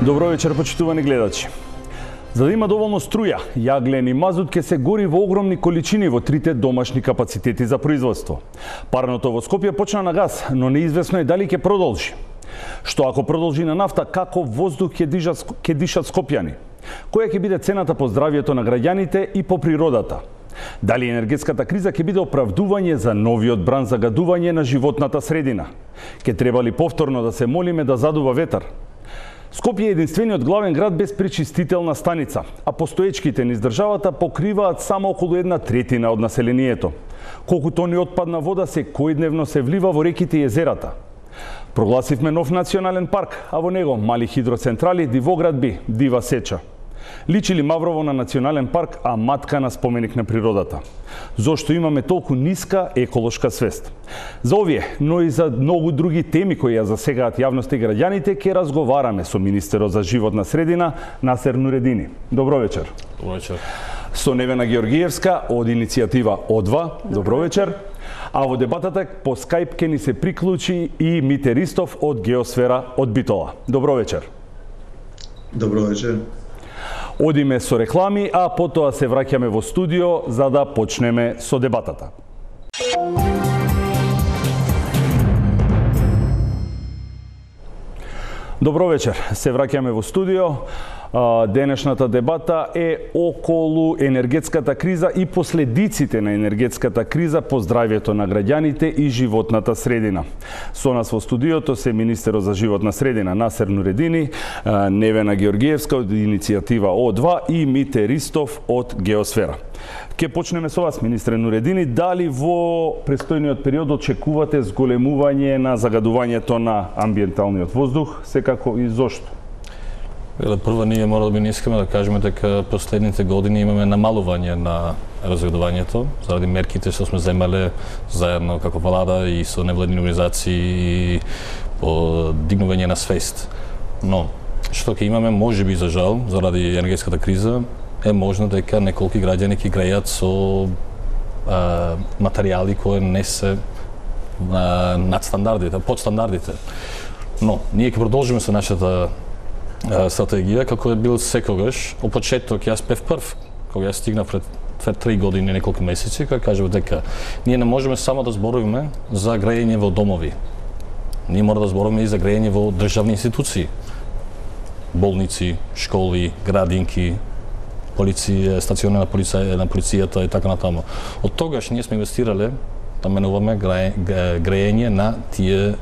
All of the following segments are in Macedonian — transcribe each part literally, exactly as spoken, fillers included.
Добро вечер, почитувани гледачи. За да има доволно струја, јаглен и мазут ќе се гори во огромни количини во трите домашни капацитети за производство. Парното во Скопје почна на газ, но неизвестно е дали ќе продолжи. Што ако продолжи на нафта, како воздух ќе дишат, ќе дишат скопјани? Која ќе биде цената по здравието на граѓаните и по природата? Дали енергетската криза ќе биде оправдување за новиот бран загадување на животната средина? Ќе треба ли повторно да се молиме да задува ветар? Скопје е единствениот главен град без пречистителна станица, а постоечките низ државата покриваат само околу една третина од населението. Колку тони отпадна вода секојдневно се влива во реките и езерата. Прогласивме нов национален парк, а во него мали хидроцентрали, дивоградби, дива сеча. Личи ли Маврово на национален парк, а матка на споменик на природата? Зошто имаме толку ниска еколошка свест? За овие, но и за многу други теми кои ја засегаат јавноста и граѓаните, ќе разговараме со министерот за животна средина Насер Нуредини. Добро вечер. Добро вечер. Со Невена Георгиевска од иницијатива О два. Добро вечер. А во дебатата по Скајп ќе ни се приклучи и Мите Ристов од Геосфера од Битола. Добро вечер. Добро вечер. Одиме со реклами, а потоа се враќаме во студио за да почнеме со дебатата. Добро вечер, се враќаме во студио. Денешната дебата е околу енергетската криза и последиците на енергетската криза по здравието на граѓаните и животната средина. Со нас во студиото се министерот за животна средина Насер Нуредини, Невена Георгиевска од иницијатива О два и Мите Ристов од Геосфера. Ке почнеме со вас, министре Нуредини. Дали во престојниот период очекувате зголемување на загадувањето на амбиенталниот воздух, секако и зошто? Прво, ние мора да би не искаме да кажеме дека последните години имаме намалување на разградувањето заради мерките што сме земале заедно како влада и со невладини организации и по дигнување на свест. Но што ќе имаме, можеби за жал, заради енергетската криза, е можно дека неколку граѓани ќе играат со а, материјали кои не се а, над стандардите, под стандардите. Но ние ќе продолжиме со нашата стратегија, како е бил секогаш. Од почеток јас бев прв, кога јас стигнав пред две три години, неколку месеци, кога кажав дека ние не можеме само да зборуваме за грејење во домови. Ние мора да зборуваме и за грејење во државни институции. Болници, школи, градинки, полиција, стациони на полиција, на полицијата и така натаму. Од тогаш ние сме инвестирале да менуваме грејење на тие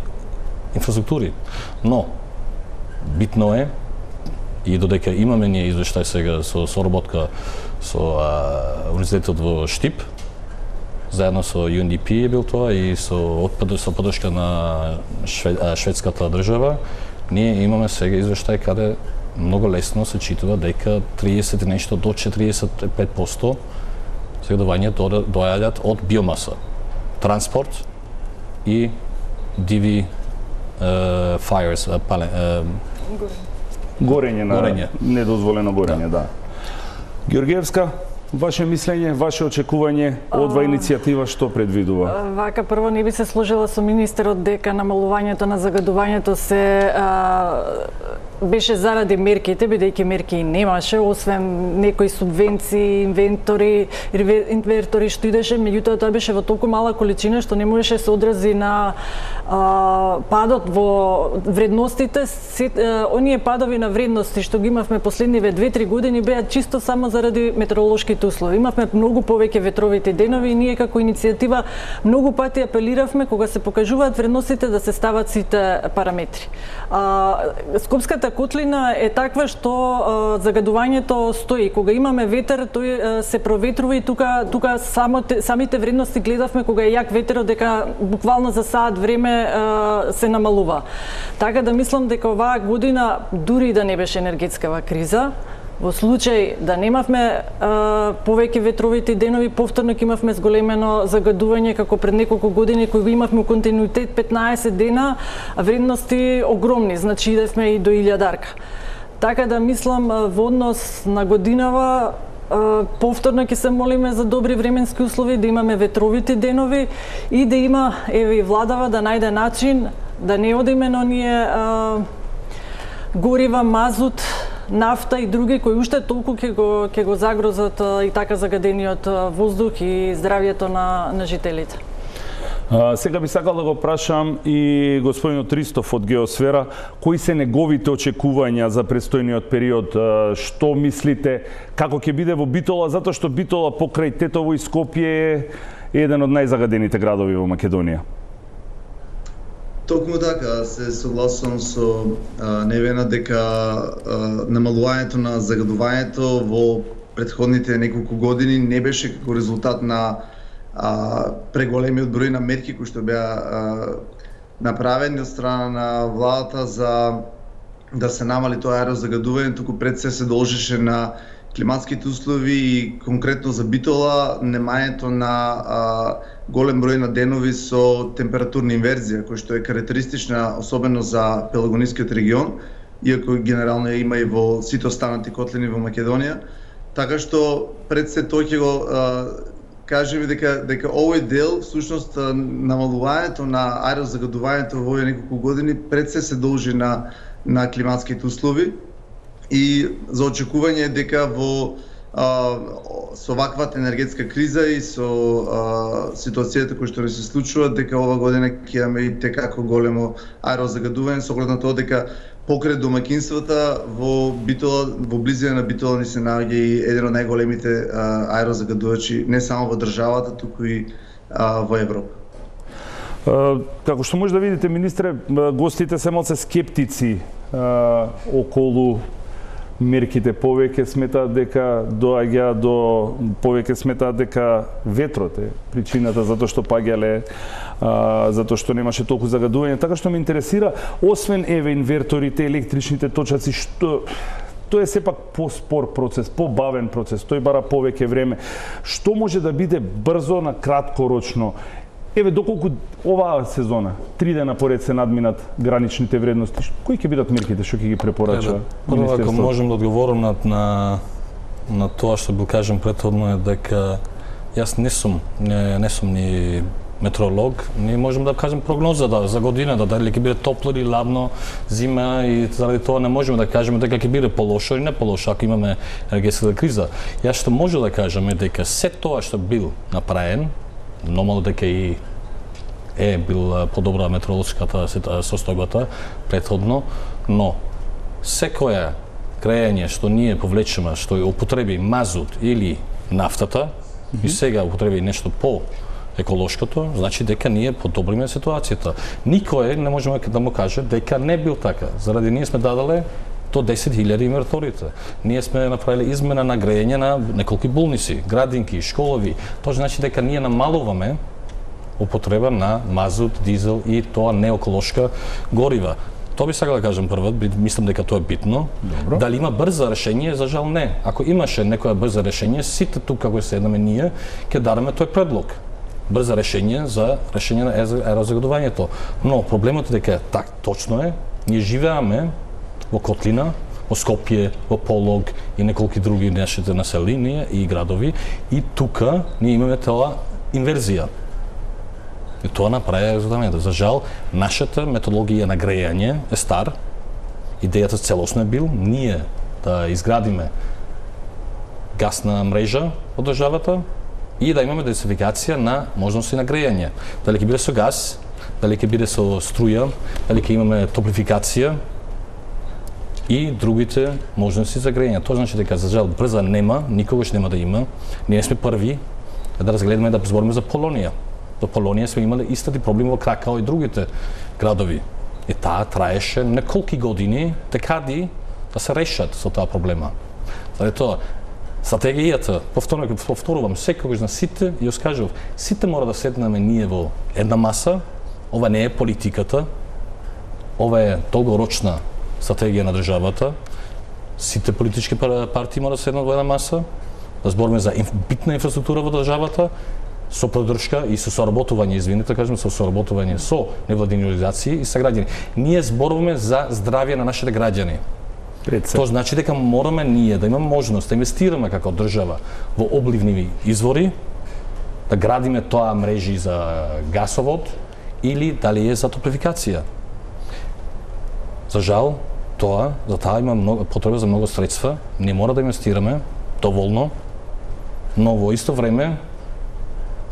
инфраструктури. Но битно е, и додека имаме ние извештај сега со соработка со а, универзитетот во Штип, заедно со Ю Ен Ди Пи е бил тоа и со, со подршка на швед, а, шведската држава, ние имаме сега извештај каде многу лесно се читува дека триесет и нешто до четириесет и пет проценти загадување доаѓаат од биомаса, транспорт и диви uh, fires, uh, пале, uh, Горење на Горење. недозволено горење, да. да. Георгиевска, ваше мислење, ваше очекување од ова иницијатива што предвидува? Вака, прво не би се сложила со министерот дека намалувањето на загадувањето се а, беше заради мерките, бидејќи мерки и немаше, освен некои субвенции, инвентори, инвертори што идеше, меѓутоа тоа беше во толку мала количина што не можеше се одрази на а, падот во вредностите. Се, а, оние падови на вредности што ги имавме последниве две три години беа чисто само заради метеоролошките услови. Имавме многу повеќе ветровите денови и ние како иницијатива многу пати апелиравме кога се покажуваат вредностите да се стават сите параметри. А, Скопската котлина е таква што а, загадувањето стои. Кога имаме ветер, тој а, се проветрува и тука тука само те, самите вредности гледавме кога е јак ветерот дека буквално за саат време а, се намалува. Така да мислам дека оваа година дури да не беше енергетскава криза, во случај да немавме а, повеќе ветровите денови, повторно ќе имавме зголемено загадување како пред неколку години кои го имавме континуитет петнаесет дена, а вредности огромни, значи идевме и до илјадарка. Така да мислам во однос на годинава повторно ќе се молиме за добри временски услови, да имаме ветровите денови и да има, еве и владава да најде начин да не одиме на оние горива, мазут, нафта и други кои уште толку ќе го ќе го загрозат и така загадениот воздух и здравјето на на жителите. А, сега би сакал да го прашам и господинот Ристов од Геосфера, кои се неговите очекувања за престојниот период, а, што мислите, како ќе биде во Битола, затоа што Битола покрај Тетово и Скопје е еден од најзагадените градови во Македонија. Токму така, се согласувам со а, Невена дека а, намалувањето на загадувањето во претходните неколку години не беше како резултат на а, преголемиот број на мерки кои што беа а, направени од страна на владата за да се намали тоа аерозагадување, туку пред се се должеше на климатските услови и конкретно за Битола немањето на а, голем број на денови со температурна инверзија, која што е карактеристична особено за Пелагонискиот регион, иако генерално има и во сите останати котлини во Македонија. Така што пред се тој ќе го а, кажеме дека дека овој дел всушност намалувањето на аерозагадувањето во овие неколку години пред се се должи на на климатските услови и за очекување е дека во а, со ваквата енергетска криза и со а, ситуацијата која што не се случува, дека ова година ќе имаме и текако големо аерозагадување, со оглед на тоа дека покрај домаќинствата во Битола, во близина на Битола ни се наоѓа и еден од најголемите а, аерозагадувачи не само во државата, туку и а, во Европа. Uh, како што може да видите, министре, гостите се малце скептици uh, околу мерките. Повеќе сметаат дека доаѓа до повеќе сметаат дека ветрот е причината затоа што паѓале, uh, затоа што немаше толку загадување. Така што ме интересира, освен еве инверторите, електричните точаци, што тоа е сепак поспор процес, побавен процес, тој бара повеќе време. Што може да биде брзо на краткорочно? Еве, доколку оваа сезона, три дена поред се надминат граничните вредности, кои ќе бидат мерките што ќе ги препорача Прво, ако можем да одговорам на, на, на тоа што бил кажем претходно е дека јас не сум, не, не сум ни метеоролог, ние можеме да кажем прогноза да, за годината, дали ќе биде топло или ладно зима и заради тоа не можеме да кажеме дека ќе биде полошо или не полошо ако имаме енергетска криза. Јас што може да кажам е дека се тоа што бил направен, нормално дека и е бил подобра метеоролошката состојбата претходно, но секоја грејање што ние повлечеме, што ја употреби мазут или нафтата, mm -hmm. и сега употреби нешто по еколошкото, значи дека ние подобриме ситуацијата. Никој не можеме да му каже дека не бил така, заради ние сме дадале до десет илјади инверторите. Ние сме направиле измена на грејање на неколку болници, градинки, школови. Тоа значи дека ние намалуваме употреба на мазут, дизел и тоа нееколошка горива. Тоа би сакал да кажам прво, мислам дека тоа е битно. Добро. Дали има брзо решение? За жал не. Ако имаше некоја брзо решение, сите тука како седнеме ние ќе дадеме тој предлог. Брзо решение за решение на аерозагадувањето. Но проблемот е дека так точно е, ние живееме во Котлина, во Скопје, во Полог и неколку други нашите населени и градови и тука ние имаме тоа инверзија. И тоа направи резултатот. За жал, нашата методологија на грејање е стар. Идејата целосно е бил ние да изградиме гасна мрежа од државата и да имаме диверсификација на можности на грејање. Дали ќе биде со газ, дали ќе биде со струја, дали ќе имаме топлификација и другите можности за грејање. Тоа значи дека за жал брза нема, никогаш нема да има. Ние сме први да разгледаме да збориме за Полонија. Во Полонија сме имале исти проблеми во Кракао и другите градови. И таа траеше неколку години декади да се решат со таа проблема. Заради тоа, стратегијата, повторно повторувам, секогаш на сите, и ја кажав, сите мора да седнеме ние во една маса. Ова не е политиката, ова е долгорочна стратегија на државата. Сите политички партии мора да седнат во една маса, да збориме за битна инфраструктура во државата, со поддршка и со соработување, извините, кажем, со соработување со невладини организации и со граѓани. Ние зборуваме за здравје на нашите граѓани. Тоа значи дека мораме ние да имаме можност да инвестираме како држава во обливни извори, да градиме тоа мрежи за гасовод или дали е за топлификација. За жал, тоа, за таа има многу потреба за многу средства, не мора да инвестираме доволно, но во исто време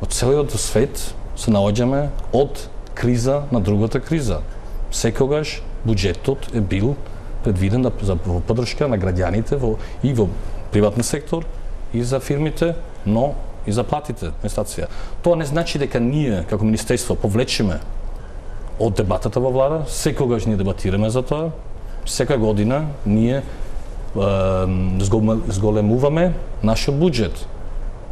од целиот свет се наоѓаме од криза на другата криза. Секогаш буџетот е бил предвиден да, за во поддршка на граѓаните во, и во приватен сектор, и за фирмите, но и за платите на стација. Тоа не значи дека ние, како Министерство, повлечеме од дебатата во влада, секогаш ние дебатираме за тоа, сека година ние е, зголемуваме нашиот буџет.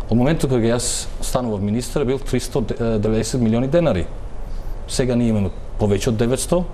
Од моментот кога јас станував министар бил триста и деветдесет милиони денари. Сега ние имаме повеќе од деветсто,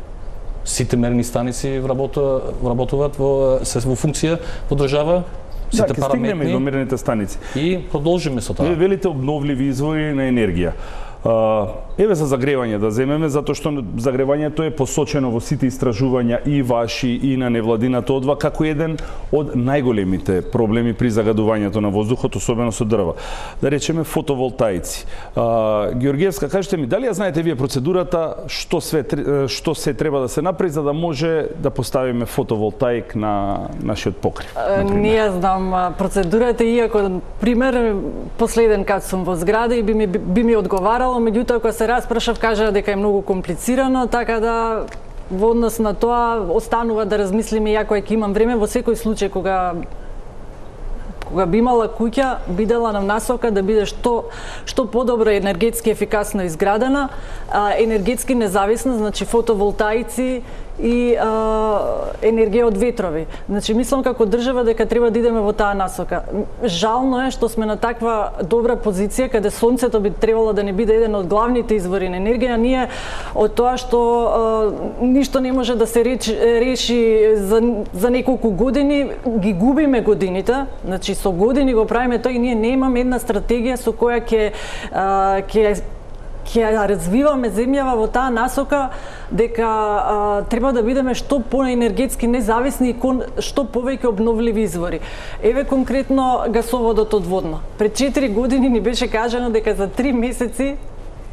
сите мерни станици вработуваат во се во функција во држава, сите да, параметри до мерните станици. И продолжиме со тоа. Вие велите обновливи извори на енергија. Uh, еве за загревање да земеме, затоа што загревањето е посочено во сите истражувања и ваши и на невладината одва како еден од најголемите проблеми при загадувањето на воздухот, особено со дрва. Да речеме фотоволтаици. Uh, Георгиевска, кажете ми, дали ја знаете вие процедурата што све што се треба да се направи за да може да поставиме фотоволтаик на нашиот покрив? Uh, не ја знам процедурата, иако пример последен кад сум во зграда и би ми би ми одговарал, меѓутоа кога се распрашав кажа дека е многу комплицирано, така да во однос на тоа останува да размислиме, иако ќе имам време во секој случај кога кога би имала куќа, бидела на насока да биде што што подобро енергетски ефикасно изградена, а, енергетски независна, значи фотоволтаици и а, енергија од ветрови. Значи мислам како држава дека треба да идеме во таа насока. Жално е што сме на таква добра позиција каде сонцето би требало да не биде еден од главните извори на енергија, ние од тоа што а, ништо не може да се речи, реши за за неколку години, ги губиме годините. Значи со години го правиме тоа и ние немаме една стратегија со која ќе ќе ќе развиваме земјава во таа насока дека а, треба да бидеме што поенергетски независни и кон што повеќе обновливи извори. Еве конкретно гасоводот одводно. Пред четири години ни беше кажано дека за три месеци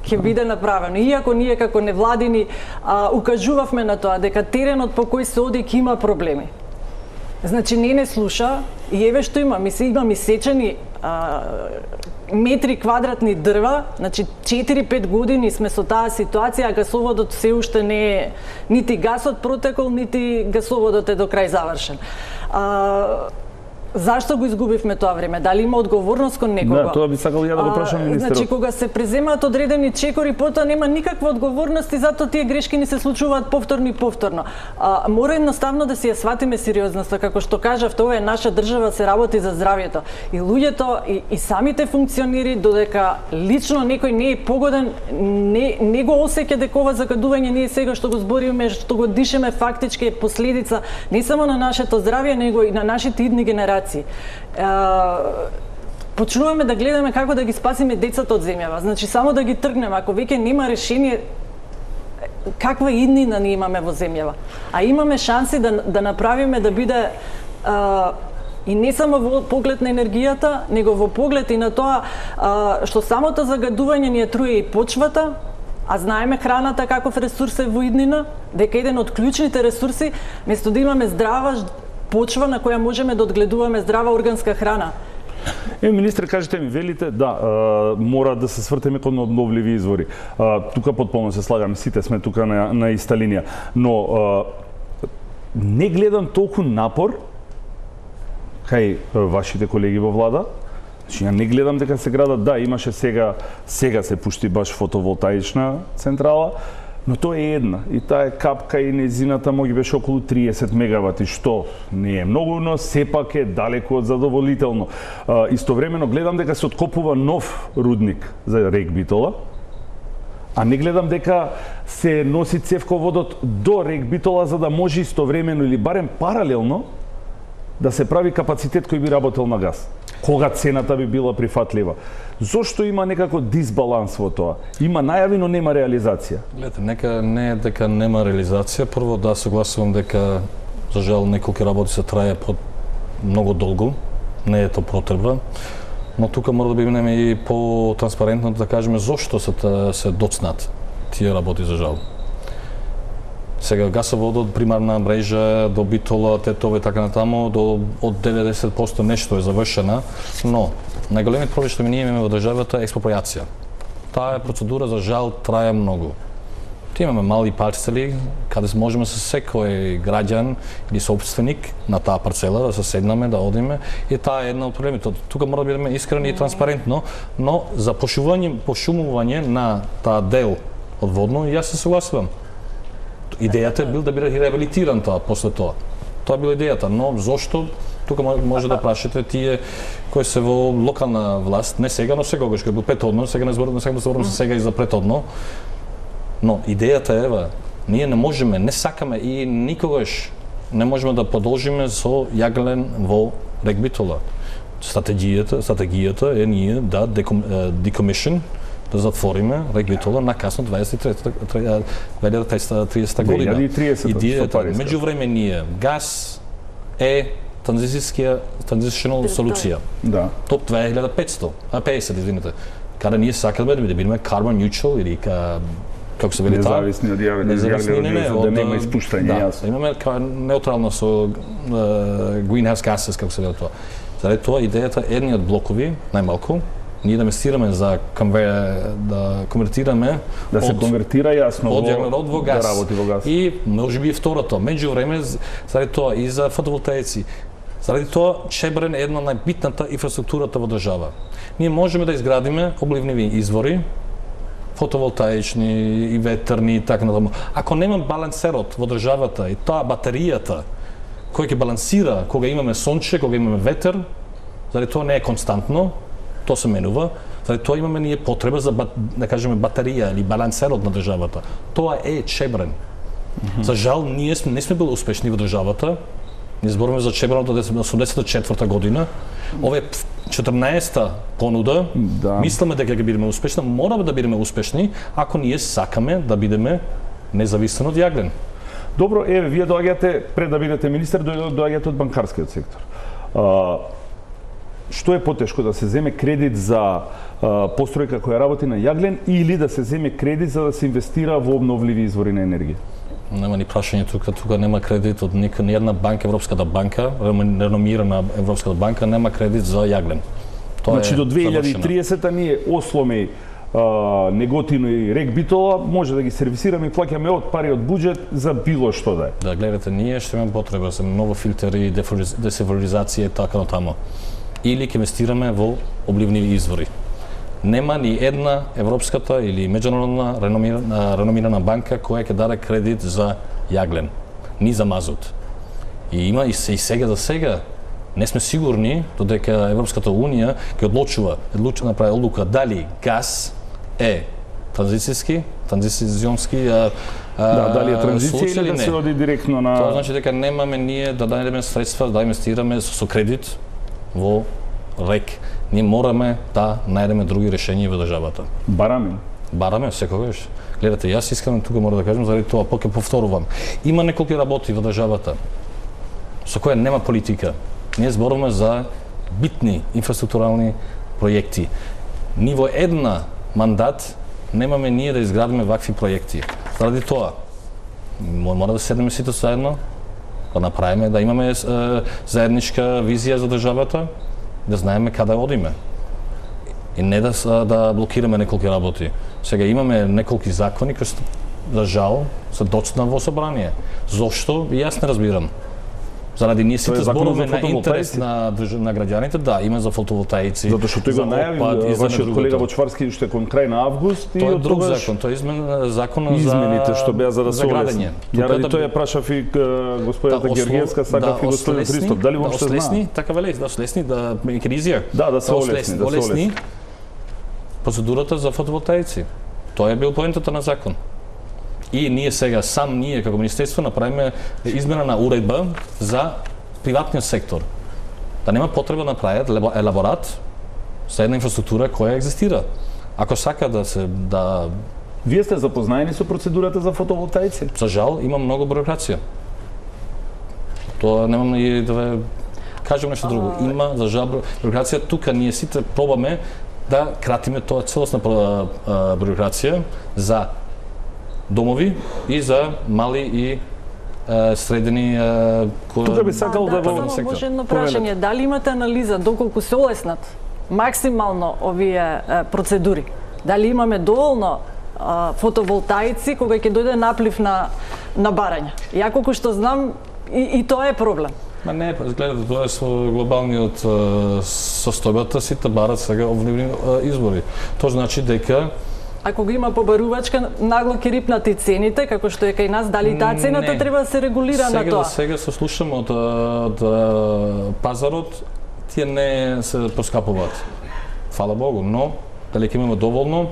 ќе биде направено. Иако ние како невладини а, укажувавме на тоа дека теренот по кој се оди ќе има проблеми. Значи не не слуша и еве што има, ми се имам исечени а, метри квадратни дрва, значи четири-пет години сме со таа ситуација, а гасоводот се уште не е, нити гасот протекол, нити гасоводот е до крај завршен. А, Зашто го изгубивме тоа време? Дали има одговорност кон некого? Да, тоа би сакал ја да го прашам министерот. Значи кога се преземаат одредени чекори, потоа нема никаква одговорност и затоа тие грешки ни се случуваат повторно и повторно. А, мора едноставно да си ја сватиме сериозноста, како што кажав, тоа е наша држава, се работи за здравјето. И луѓето и, и самите функционери, додека лично некој не е погоден, не, не го осеќа дека ова загадување ние сега што го збориме, што го дишеме фактички е последица не само на нашето здравје, него и на нашите идни генерации. Почнуваме да гледаме како да ги спасиме децата од земјава. Значи само да ги тргнеме, ако веќе нема решение, каква иднина ни имаме во земјава. А имаме шанси да да направиме да биде а, и не само во поглед на енергијата, него во поглед и на тоа а, што самото загадување ни ја труе и почвата, а знаеме храната каков ресурс е во иднина, дека еден од клучните ресурси, место да имаме здрава почва на која можеме да одгледуваме здрава органска храна. Е, министре, кажете ми, велите, да, а, мора да се свртеме кон обновливи извори. А, тука потполно се слагаме, сите сме тука на, на иста линија, но а, не гледам толку напор кај вашите колеги во влада. Значи, ја не гледам дека се градат, да, имаше сега, сега се пушти баш фотоволтаична централа, но тоа е една и таа е капка и незината моги беше околу триесет мегавати, што не е многу, но сепак е далеку од задоволително. А, истовремено гледам дека се откопува нов рудник за рек Битола, а не гледам дека се носи цевководот до рек Битола за да може истовремено или барем паралелно да се прави капацитет кој би работел на газ. Кога цената би била прифатлива. Зошто има некако дисбаланс во тоа? Има најави, но нема реализација. Гледате, нека не е дека нема реализација. Прво да согласувам дека за жал неколку работи се трае под многу долго. Не е тоа потребно. Но тука мора да бидеме и по-транспарентно да кажеме зошто се се доцнат тие работи за жал. Сега гасоводот, примарна мрежа до Битола, Тетово и така натаму, до од деветдесет проценти нешто е завршена, но најголемиот проблем што ми ние имаме во државата е експроприација. Таа процедура за жал трае многу. Ти имаме мали парцели каде можеме со секој граѓан или собственик на таа парцела да се седнаме, да одиме и таа е една од проблемите. Тука мора да бидеме искрени и транспарентно, но за пошумување, пошумување на таа дел од водно јас се согласувам. Идејата е бил да биде реабилитиран тоа после тоа. Тоа била идејата, но зошто тука може да прашате тие кои се во локална власт, не сега, но секогаш кој бил претhodно, сега не зборувам, сега зборувам се сега и за претhodно. Но идејата е ева, ние не можеме, не сакаме и никогаш не можеме да продолжиме со јаглен во рек Битола. Стратегијата, стратегијата е ние да decommission, да затвориме рек Битола на касно дваесет и трета година. две илјади и тридесета. Идејата, меѓувреме ние, газ е транзицијска transitional солуција. Да. Топ две илјади и петстотини, а песет, извинете. Каде ние сакаме да бидеме carbon neutral или ка како се вели таа, независни од јавен, да нема испуштање, јасно. Да, имаме као неутрално со uh, greenhouse gases, како се вели тоа. Заради тоа идејата едниот блокови, најмалку, ние да инвестираме за конвер, да конвертираме да се од, конвертира јасно од јаглерод во газ. Да работи во газ. И можеби и второто, меѓувреме заради тоа и за фотоволтаици. Заради тоа Чебрен е една најбитната инфраструктурата во држава. Ние можеме да изградиме обливниви извори, фотоволтаични и ветерни и така натаму. Ако нема балансерот во државата и таа батеријата кој ќе балансира кога имаме сонче, кога имаме ветер, заради тоа не е константно, тоа се менува, заради тоа имаме ние потреба за да кажеме батерија или балансерот на државата. Тоа е Чебрен. Mm-hmm. За жал ние сме не сме били успешни во државата. Ние зборуваме за Чебрен од осумдесет и четврта година. Ова е четрнаесета понуда. Да. Мислиме дека ќе бидеме успешни, мораме да бидеме успешни ако ние сакаме да бидеме независен од јаглен. Добро, еве, вие доаѓате пред да бидете министер, доаѓате од банкарскиот сектор. А, што е потешко, да се земе кредит за а, постројка која работи на јаглен или да се земе кредит за да се инвестира во обновливи извори на енергија? Нема ни прашање тука, тука нема кредит од никоја ни една банка, Европската банка, реномирана Европската банка, нема кредит за јаглен. Тоа значи е до две илјади и тридесета ние Осломе, а, Неготино и рек Битола може да ги сервисираме и плаќаме од пари од буџет за било што да е. Да, гледате, ние што имаме потреба за нови филтери, десеволизација и така натаму. Или ќе инвестираме во обливни извори. Нема ни една европската или меѓународна реномирана, реномирана банка која ќе даде кредит за јаглен, ни за мазут. И има и, се, и сега за сега не сме сигурни додека Европската унија ќе одлучува, одлучува направи одлука дали газ е транзицијски, транзиционски а, да, дали е транзиција или да се оди директно на... Тоа значи дека немаме ние да најдеме средства да инвестираме со, со кредит во рек. Ние мораме да најдеме други решенија во државата. Бараме? Бараме секогаш. Гледате, јас искрено тука мора да кажам, заради тоа поќе повторувам. Има неколку работи во државата со која нема политика. Ние зборуваме за битни инфраструктурални проекти. Ни во една мандат немаме ние да изградиме вакви проекти. Заради тоа мора да седнеме сите заедно, да направиме, да имаме е, заедничка визија за државата, да знаеме каде одиме. И не да да блокираме неколку работи. Сега имаме неколку закони кои за жал се доцна во собрание. Зошто? Јас не разбирам. Заради ние сите зборуваме на интерес на, на граѓаните, да, има за фотоволтаици. Затоа што тој го најави вашиот колега Бочварски уште кон крај на август и тоа е друг закон, тоа е измен закон за измените што беа за да се градење. Ја ради тоа ја прашав и господината да, Георгиевска, сакав да, и господин Христов, дали воопшто знае? Да олесни, така веле, да олесни, да кризија. Да, да се олесни, да се олесни. Процедурата за фотоволтаици. Тоа е бил поентата на закон. И ние сега, сам ние како министерство направиме измена на уредба за приватниот сектор. Да нема потреба да направат елаборат за една инфраструктура која екзистира. Ако сака да се да Вие сте запознаени со процедурата за фотоволтаици? За жал има многу бюрокрација. Тоа немам и да кажам нешто друго. Има за жал бюрокрација, тука ние сите пробаме да кратиме тоа целосна бюрокрација за домови и за мали и е, средни е, Тука би сакал да, да, да да само може едно прашање, дали имате анализа доколку се олеснат максимално овие е, процедури? Дали имаме доволно е, фотоволтаици кога ќе дојде наплив на на барања? Ја колку што знам и, и тоа е проблем. Ма не, гледате, тоа е со глобалниот состојбата, сите барат сега овнивни избори. Тоа значи дека Ако го има побарувачка, нагло ќе рипнат и цените, како што е кај нас, дали таа цената не. треба да се регулира сега, на тоа? Сега се слушаме од, од пазарот, тие не се поскапуваат. Фала Богу, но дали ќе имаме доволно,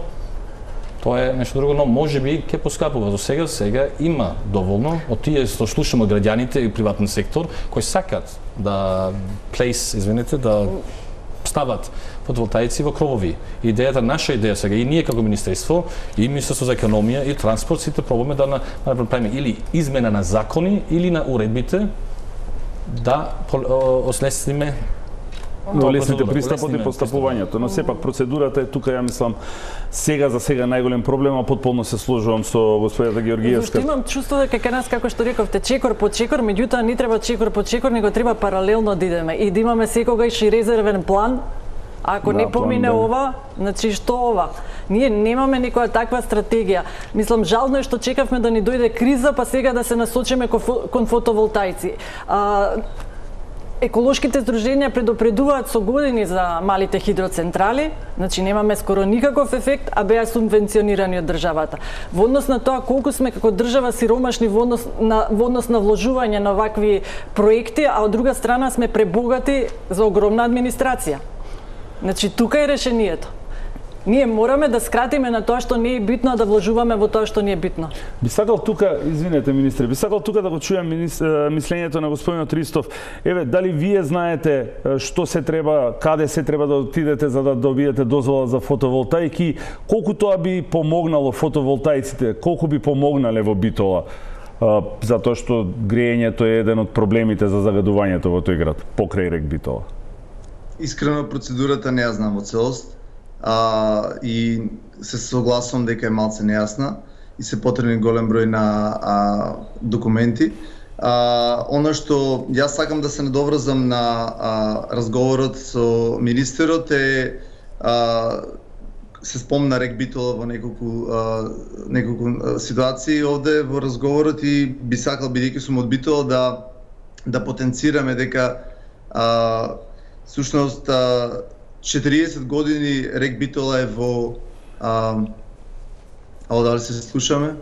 тоа е нешто друго, но може би ќе поскапува. За сега сега има доволно од тие што слушаме граѓаните и приватен сектор кои сакат да place, извинете, да стават фотоволтаици во кровови. Идејата, наша идеја сега и ние како министерство и Министерство за економија и транспорт сите пробаме да направиме или измена на закони или на уредбите да ослесниме да олесните пристапот и постапувањето, но сепак процедурата е тука, ја мислам, сега за сега најголем проблем, а потполно се сложувам со господјата Георгиевска. Зашто имам чувство дека кај нас, како што рековте, чекор по чекор, меѓутоа не треба чекор по чекор, него треба паралелно да идеме и да имаме секогаш и резервен план. Ако да, не помине план, да. ова, значи што ова? Ние немаме никоја таква стратегија. Мислам, жално е што чекавме да ни дојде криза, па сега да се насочиме кон фотоволтаици. А, еколошките здруженија предупредуваат со години за малите хидроцентрали, значи немаме скоро никаков ефект, а беа субвенционирани од државата. Во однос на тоа колку сме како држава сиромашни во однос на во однос на вложување на вакви проекти, а од друга страна сме пребогати за огромна администрација. Значи тука е решението. Ние мораме да скратиме на тоа што не е битно, а да вложуваме во тоа што не е битно. Би сакал тука, извинете министре, би сакал тука да го чујам мислењето на господинот Ристов. Еве, дали вие знаете што се треба, каде се треба да отидете за да добиете дозвола за фотоволтаики, колку тоа би помогнало фотоволтаиците, колку би помогнале во Битола? Затоа што грејењето е еден од проблемите за загадувањето во тој град, покрај рек Битола. Искрено процедурата не ја знам во целост. А, и се согласувам дека е малце нејасна и се потребни голем број на а, документи. А, она што јас сакам да се надоврзам на а, разговорот со министерот е а, се спомна рек Битола во неколку а, неколку ситуации овде во разговорот и би сакал, бидејќи сум од Битола, да да потенцираме дека а, сушност четириесет години рек Битола е во а, ало дали се слушаме?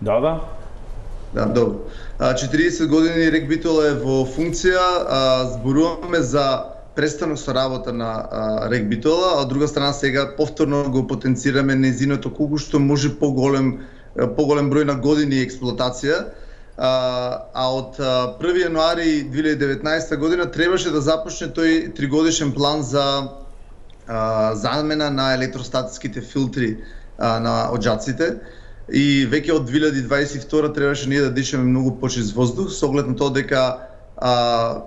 Да, да. Да, добро. А, четириесет години рек Битола е во функција, а, зборуваме за престанок со работа на а, рек Битола, а од друга страна сега повторно го потенцираме незиното колку што може поголем поголем број на години експлоатација. А, а од први јануари две илјади и деветнаесета година требаше да започне тој тригодишен план за а, замена на електростатските филтри а, на оџаците и веќе од две илјади дваесет и втора требаше ние да дишаме многу почист воздух со оглед на тоа дека а,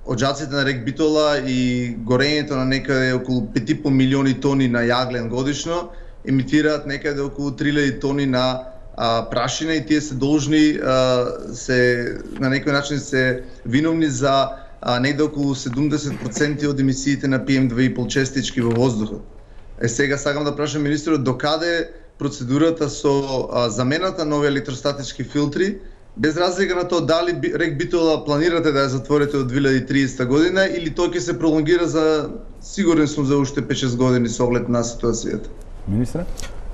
оџаците на рек Битола и горењето на некаде околу пет и по милиони тони на јаглен годишно емитираат некаде околу три илјади тони на а, прашина и тие се должни а, се на некој начин се виновни за а, негде околу седумдесет проценти од емисиите на пи ем две и пет честички во воздухот. Е сега сакам да прашам министерот докаде процедурата со а, замената на овие електростатички филтри, без разлика на тоа дали рек Битола планирате да ја затворите од две илјади и тридесета година или тоа ќе се пролонгира за сигурен сум за уште пет-шест години со оглед на ситуацијата. Министре?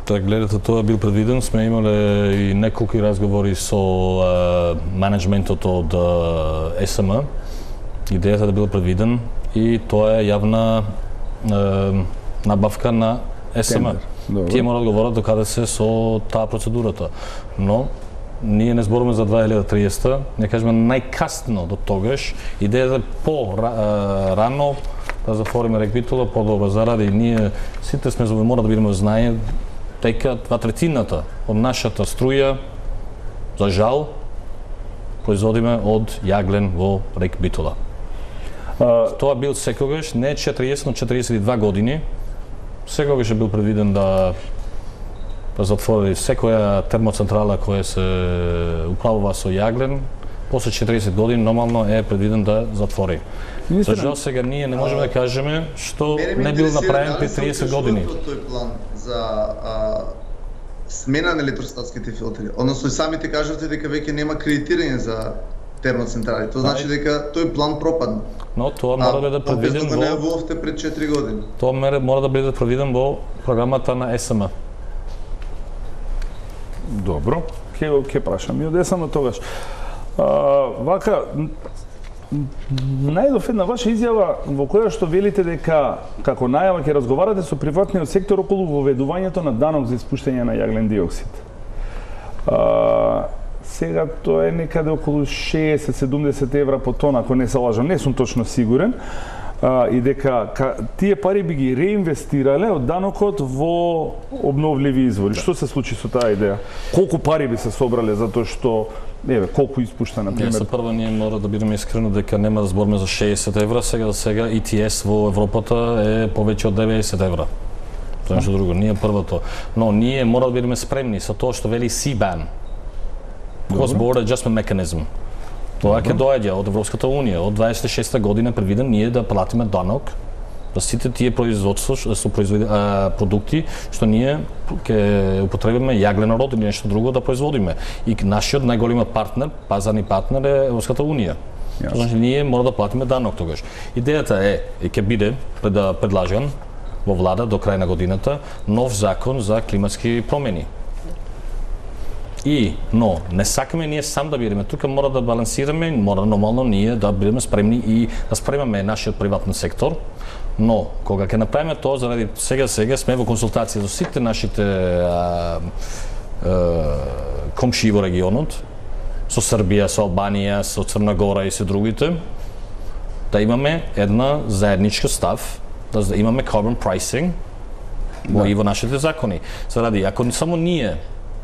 Така, гледате, тоа бил предвиден. Сме имале и неколку разговори со а, менеджментот од а, ес ем. Идејата да бил предвиден и тоа е јавна а, набавка на ес ем. Тие мора да говорат до каде се со таа процедурата. Но ние не зборуваме за две илјади и триесета, не кажеме најкасно до тогаш. Идејата е по рано да затвориме рек Битола, по-добро заради ние сите сме мора да бидеме знае дека два третината од нашата струја, за жал, производиме од јаглен во рек Битола. Uh, Тоа бил секогаш, не четириесет, но четириесет и две години, секогаш е бил предвиден да да затвори секоја термоцентрала која се управува со јаглен, после четиридесет години нормално е предвиден да затвори. За жал сега ние не можеме да кажеме што не бил направен пред триесет години. Тој план за а, смена на електростатските филтри, односно и самите кажате дека веќе нема кредитирање за термоцентрали. Тоа значи дека тој план пропадна. Но тоа мора да биде предвиден во... А, не во пред четири години. Тоа мора да биде предвиден во програмата на Е С М. Добро, ќе ќе прашам и од Е С М тогаш. А, вака, најдов една ваша изјава во која што велите дека како најава ќе разговарате со приватниот сектор околу воведувањето на данок за испуштање на јаглен диоксид. А, сега тоа е некаде околу шеесет до седумдесет евра по тон, ако не се лажам, не сум точно сигурен. А, и дека ка, тие пари би ги реинвестирале од данокот во обновливи извори. Да. Што се случи со таа идеја? Колку пари би се собрале за тоа што еве колку испушта на пример? За прво ние мора да бидеме искрени дека нема да збориме за шеесет евра, сега за сега И Т С во Европата е повеќе од деветдесет евра. Тоа е нешто друго, ние првото. Но ние мора да бидеме спремни со тоа што вели С Б А Н. Cross Border Adjustment Mechanism. Тоа ќе доаѓа од Европската унија. Од дваесет и шеста година предвиден ние да платиме данок за сите тие производства со производи а, продукти што ние ќе употребиме јагленород или нешто друго да производиме. И нашиот најголем партнер, пазарни партнер е Европската унија. Тоа значи ние мора да платиме данок тогаш. Идејата е и ќе биде пред да предложен во влада до крај на годината нов закон за климатски промени. И, но, не сакаме ние сам да бидеме, тука мора да балансираме, мора нормално ние да бидеме спремни и да спремаме нашиот приватен сектор, но кога ќе направиме тоа, заради сега сега сме во консултација со сите нашите а, а, комшии во регионот, со Србија, со Албанија, со Црна Гора и се другите, да имаме една заедничка став, да имаме carbon pricing во и во нашите закони. Заради, ако само ние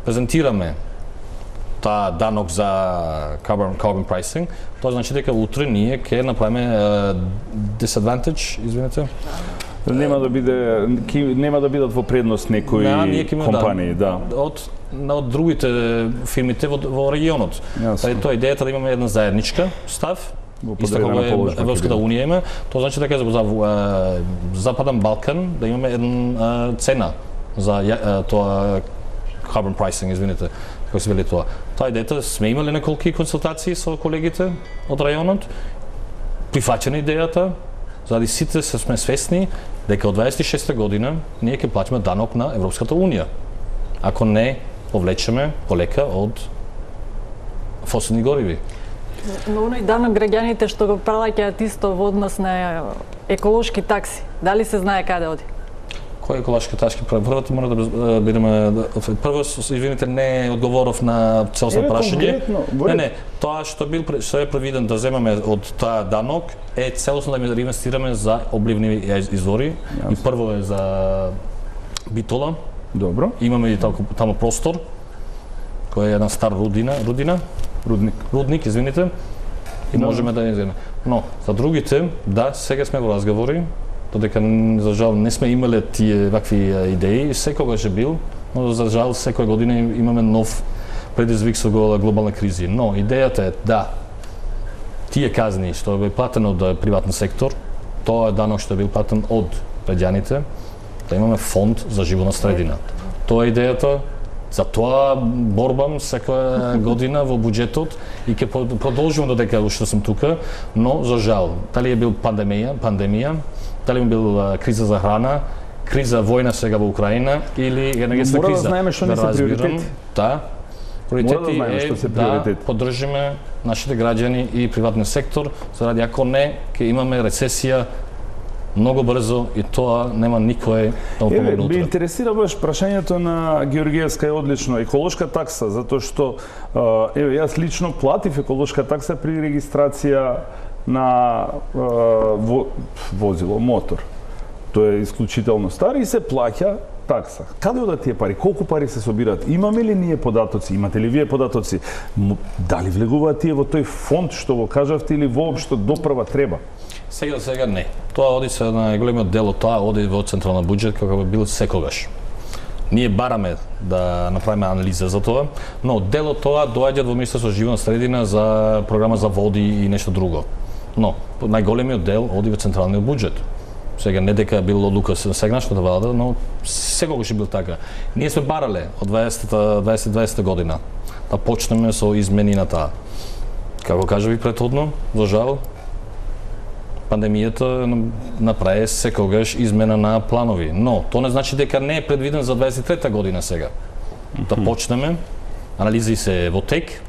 презентираме таа данок за carbon, carbon pricing, тоа значи дека утре ние ќе направиме uh, disadvantage, извинете. Нема да биде нема да бидат во предност некои да, компании, да. да. Од од другите фирмите во, во регионот. Па тоа е идејата да имаме една заедничка став. Исто како е Европската унија има, тоа значи дека за, за uh, Западен Балкан да имаме една uh, цена за uh, тоа carbon pricing, извините, како се вели тоа. Тоа идејата сме имале неколку консултации со колегите од рајонот, прифаќена идејата, заради сите се сме свесни дека од дваесет и шеста година ние ќе платиме данок на Европската унија, ако не повлечеме полека од фосилни гориви. Но оној данок граѓаните што го плаќаат исто во однос на еколошки такси, дали се знае каде оди? Кој еколошки такси? Првото мора да бидеме прво, извините, не одговоров на целосно прашање. Не, не, тоа што бил што е предвиден да земеме од таа данок е целосно да инвестираме за обливни извори. Јас. И прво е за Битола. Добро. Имаме и таму простор кој е една стар рудина, рудина, рудник. Рудник, извините. И да. Можеме да ја земеме. Но за другите, да, сега сме во разговори. Додека за жал не сме имале тие вакви идеи, секогаш е бил, но за жал секоја година имаме нов предизвик со глобална криза. Но идејата е да тие казни што е платено од приватен сектор, тоа е данок што е бил платен од граѓаните, да имаме фонд за животна средина. Тоа е идејата. За тоа борбам секоја година во буџетот и ќе продолжувам додека уште сум тука, но за жал, дали е бил пандемија, пандемија, дали е бил криза за храна, криза војна сега во Украина или енергетска криза. Мора да знаеме што не се приоритети. Да. Приоритети да е да поддржиме нашите граѓани и приватниот сектор, заради ако не ќе имаме рецесија многу брзо и тоа нема никој да помогне утре. Ме интересира баш прашањето на Георгиевска е одлично. Еколошка такса, затоа што еве јас лично платив еколошка такса при регистрација на во, возило, мотор. Тоа е исклучително стар и се плаќа такса. Каде одат тие пари? Колку пари се собираат? Имаме ли ние податоци? Имате ли вие податоци? Дали влегуваат тие во тој фонд што го кажавте или воопшто допрва треба? Сега сега не. Тоа оди се на големиот дел од тоа оди во централна буџет како би бил секогаш. Ние бараме да направиме анализа за тоа, но дел од тоа доаѓа во Министерство за животна средина за програма за води и нешто друго. Но најголемиот дел оди во централниот буџет. Сега не дека бил одлука на сегашната влада, но секогаш е бил така. Ние сме барале од дваесет дваесета година да почнеме со измени на таа. Како кажа ви претходно, за жал, пандемијата направи секогаш измена на планови, но тоа не значи дека не е предвиден за дваесет и трета година сега. Да почнеме, анализи се во тек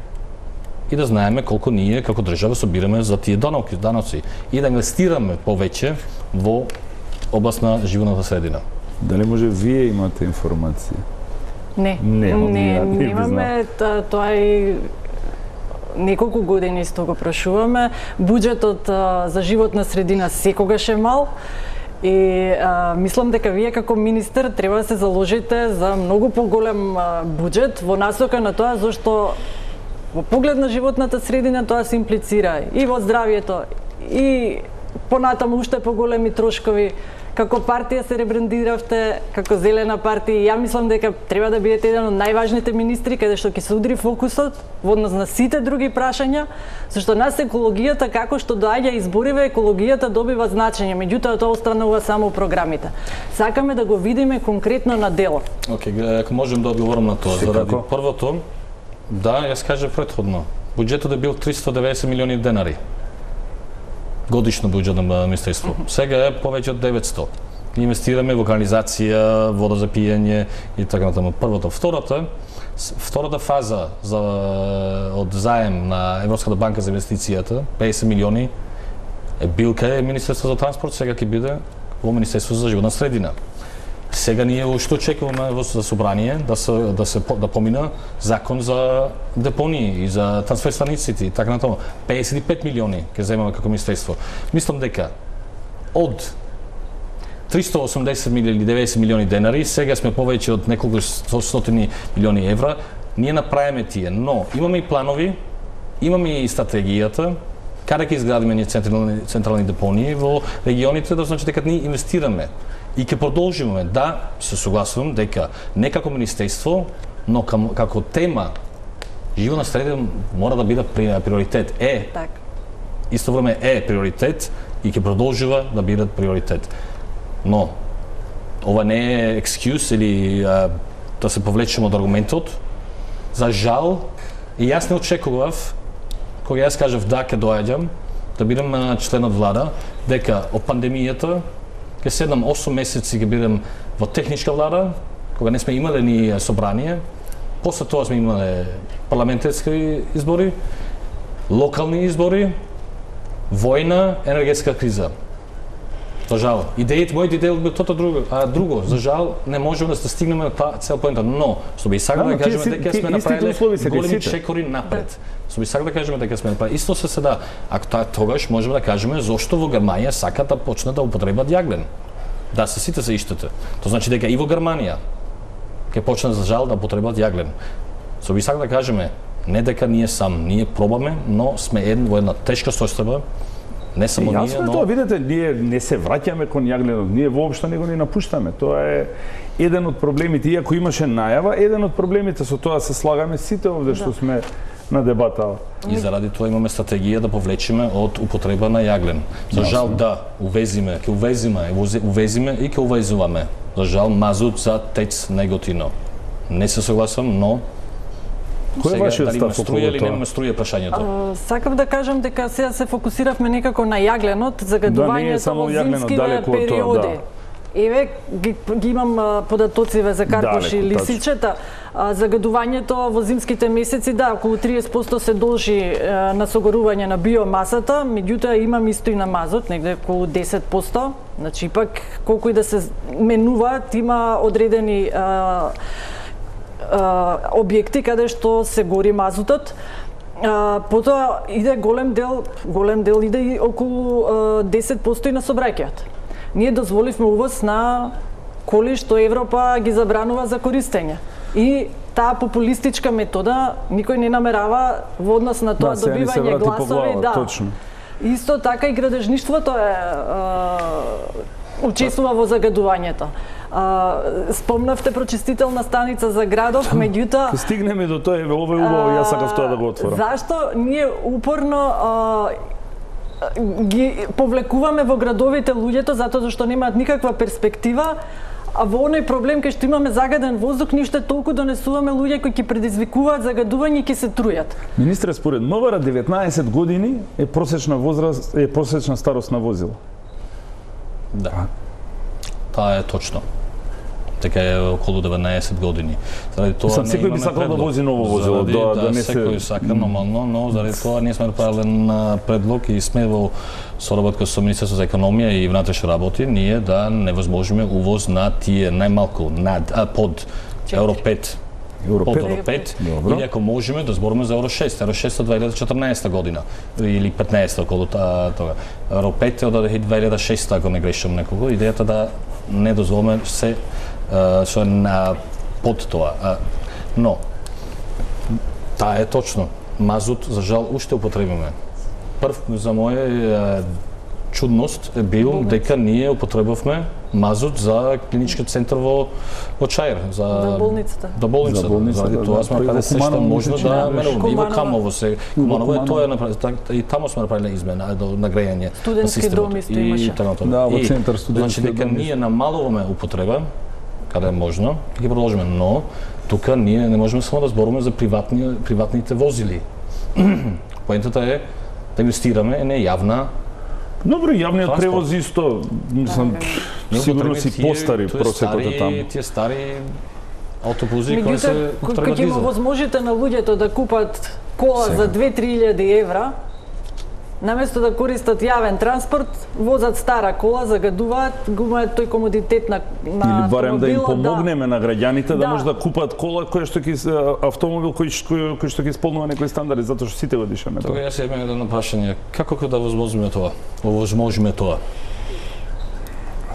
и да знаеме колку ние како држава собираме за тие даноци, даноци и да инвестираме повеќе во област на животната средина. Дали може вие имате информација? Не, не, не, немаме, тоа е неколку години исто го прашуваме. Буџетот а, за животна средина секогаш е мал и а, мислам дека вие како министер треба да се заложите за многу поголем а, буџет во насока на тоа зашто во поглед на животната средина тоа се имплицира и во здравјето и понатаму уште поголеми трошкови. Како партија се ребрандиравте како зелена партија и ја мислам дека треба да бидете еден од најважните министри каде што ќе се удри фокусот во однос на сите други прашања, зашто нас екологијата како што доаѓа избориве, екологијата добива значење, меѓутоа тоа останува само програмите. Сакаме да го видиме конкретно на дело. Океј, okay, ако можем да одговорам на тоа, заради првото, да, јас кажав претходно, буџетот е бил триста и деветдесет милиони денари. Годишно буџет на министерство. Сега е повеќе од деветсто. Инвестираме во канализација, вода за пиење и така натаму. Првото, второто, втората фаза за од заем на Европската банка за инвестицијата, педесет милиони, е бил кај Министерство за транспорт, сега ќе биде во Министерство за животна средина. Сега ние уште очекуваме во собрание да се да се да помина закон за депонии и за трансфер станиците и така натаму. педесет и пет милиони ќе земаме како министерство. Мислам дека од триста и осумдесет или деветдесет милиони денари, сега сме повеќе од неколку стотини милиони евра, ние направиме тие, но имаме и планови, имаме и стратегијата каде ќе изградиме ние централни, централни депонии во регионите, да значи дека ние инвестираме. И ќе продолжиме да се согласувам дека не како министерство, но кам, како тема животна средина мора да биде приоритет. Е, так. Исто време е приоритет и ќе продолжува да биде приоритет. Но ова не е екскюз или а, да се повлечеме од аргументот. За жал, и јас не очекував кога јас кажав да ќе доаѓам, да бидам член од влада, дека од пандемијата ќе седам осум месеци ќе бидам во техничка влада, кога не сме имале ни собрание, после тоа сме имале парламентарски избори, локални избори, војна, енергетска криза. За жал, идејата, мојот идеја бил тоа друго, а друго, за жал не можеме да стигнеме на таа цел поента, но што би сакал да кажеме дека сме направиле големи чекори напред. Што би сакал да кажеме дека сме направиле. Исто се седа, ако таа тогаш можеме да кажеме зошто во Германија сакат да почне да употребат јаглен. Да, се сите се иштите. Тоа значи дека и во Германија ќе почне за жал да употребат јаглен. Што би сакал да кажеме, не дека ние сам, ние пробаме, но сме еден во една тешка состојба. Не само ние, но... Тоа, видите, ние не се враќаме кон јагленот, ние воопшто не го ни напуштаме. Тоа е еден од проблемите, иако имаше најава, еден од проблемите, со тоа се слагаме сите овде што да. Сме на дебата. И заради тоа имаме стратегија да повлечеме од употреба на јаглен. За жал да, увезиме, ќе увезиме, увезиме и ќе увезуваме. За жал мазут за ТЕЦ Неготино. Не се согласам, но кој е вашиот став околу струја или немаме струја прашањето? А, сакав да кажам дека сега се фокусиравме некако на јагленот, загадувањето во зимскиве периоди. Да. Еве ги, ги имам податоциве за карпуши и лисичета. А, загадувањето во зимските месеци, да, околу триесет проценти се должи е, на согорување на биомасата, меѓутоа имам исто и на мазот, негде околу десет проценти. Значи, ипак, колку и да се менуваат, има одредени е, објекти каде што се гори мазутот. А, потоа иде голем дел, голем дел иде и околу а, десет проценти на сообраќајот. Ние дозволивме увоз на коли што Европа ги забранува за користење. И таа популистичка метода никој не намерава во однос на тоа да, добивање гласови, глава, да. Точно. Исто така и градежништвото е а, учествува во загадувањето. А, спомнавте прочистителна станица за градов, меѓутоа Ке стигнеме до тоа, еве ова е убаво, јас сакав тоа да го отворам. Зашто ние упорно а, ги повлекуваме во градовите луѓето затоа зашто немаат никаква перспектива, а во оној проблем кај што имаме загаден воздух, ништо толку донесуваме луѓе кои ќе предизвикуваат загадување и ќе се трујат. Министре, според МВР деветнаесет години е просечна возраст, е просечна старост на возило. Да. Таа е точно. Така е околу деветнаесет години. Заради тоа Сам секој би сакал да вози ново возило, заради, да, да, да не се... секој сака нормално, но заради тоа ние сме направиле предлог и сме во соработка со Министерството за економија и внатрешни работи, ние да невозможиме увоз на тие најмалку над а, под Евро пет. Евро Под пет. Евро пет, Добро. или ако можеме да збориме за Евро шест, Евро шест од две илјади и четрнаесета година или петнаесета околу таа тога. Евро пет е од две илјади и шеста, ако не грешам некого. Идејата да не дозволиме се што е на под тоа. А, но таа е точно. Мазут за жал уште употребиме. Прв за моја чудност е бил дека ние употребавме мазут за клиничкиот центар во во Чаир, за За болницата. До болницата. За болницата, Заради тоа да, сме преку направиле се што Куманово, можно мисля, че да не беше. меруваме. И во Куманово. Камово се, Куманово е Куманово. тоа е направиле, и таму сме направиле измена до на грејање. Студентски на системот. дом исто И имаше. така натаму. Да, во И, центар студентски Значи дека дом ние намалуваме употреба каде е можно, ќе продолжиме, но тука ние не можеме само да зборуваме за приватни приватните возили. Поентата е да инвестираме не јавна. Добро, јавниот Транспорт. превоз исто, мислам, Не сигурно употреби си тие- постари тоа е просекот стари- е таму. Тие стари автобузи кои се Меѓутоа, кога употребат ќе им дизел. возможите на луѓето да купат кола Сега. за две-три илјади евра, наместо да користат јавен транспорт, возат стара кола, загадуваат, губаат тој комодитет на на Или барем да им автомобилот, помогнеме на граѓаните да, Да. може да купат кола која што ќе се- автомобил кој ш- кој, кој што ќе исполнува некои стандарди, затоа што сите го дишаме Тога тоа. јас имам едно прашање. Како ќе да возможиме тоа? Овозможиме тоа?